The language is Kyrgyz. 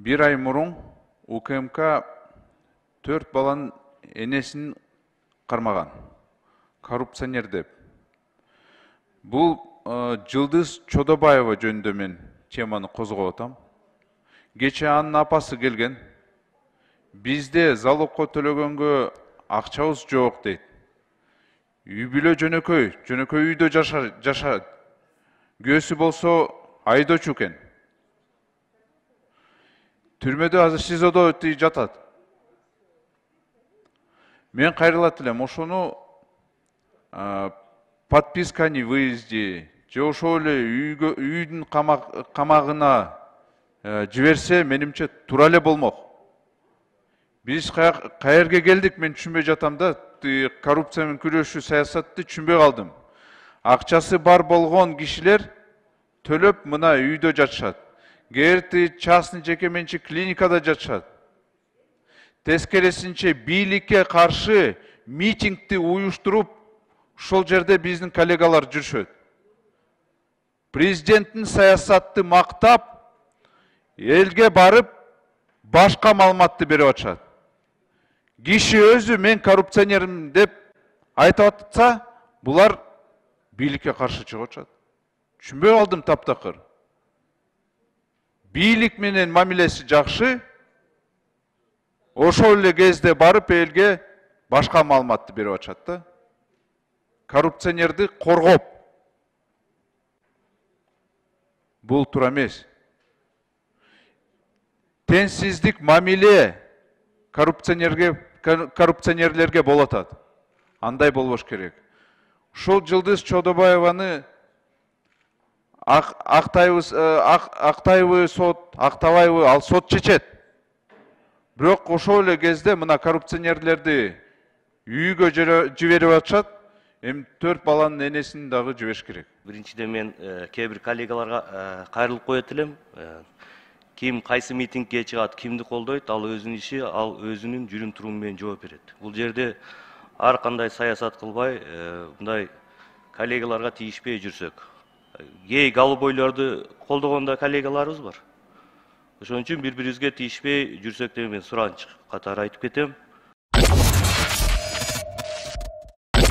Bir ay murun УКМК 4 баланын энесин кармаган. Коррупционер деп. Бул Жылдыз Чодобаева жөнүндө мен теманы козгоп атам. Кече анын апасы келген. Бизде залогко төлөгөнгө акчабыз жок дейт. Үй бүлө жөнөкөй үйдө жашайт. Күйөөсү болсо айдоочу экен. Түрмөдө азыр СИЗОдо жатат. Мен кайрылат элем, ошону подписка о невыезде, же ошол эле үйдүн камагына жиберсе, менимче туура эле болмок. Биз каерге келдик, мен түшүнбөй жатам да, коррупция менен күрөшүү саясатты түшүнбөй калдым. Акчасы бар болгон кишилер төлөп мына үйдө жатышат. Кээрти частный жеке менчик клиникада жатышат. Тескерисинче бийликке каршы митингди уюштуруп, ошол жерде биздин коллегалар жүрүшөт. Президенттин саясатты мактап, элге барып, башка маалыматты берип атышат. Киши өзү мен коррупционермин деп айтып атса, булар бийликке каршы чыгып атышат. Түшүнбөй калдым таптакыр. Бийлик менен мамилеси жакшы, ошол эле кезде барып элге башка маалыматты берип атышат да. Коррупционерди коргоп. Бул туура эмес. Теңсиздик мамиле коррупционерлерге болуп атат. Андай болбош керек. Ушул Жылдыз Чодобаеваны Актаевы сот, Актабаевы ал сот чечет. Бирок ошол эле кезде мына коррупционерлерди үйгө жиберип атышат. Эми 4 баланын энесин дагы жибериш керек. Биринчиден мен кээ бир коллегаларга кайрылып коет элем. Ким кайсы митингге чыгат, кимди колдойт, ал өзүнүн иши, ал өзүнүн жүрүм туруму менен жооп берет. Бул жерде ар кандай саясат кылбай, мындай коллегаларга тийишпей жүрсөк. Гей голубойлорду колдогондо коллегаларыбыз бар. Ошон үчүн бири-бирибизге тийишпей жүрсөк деп мен суранч катары айтып кетем.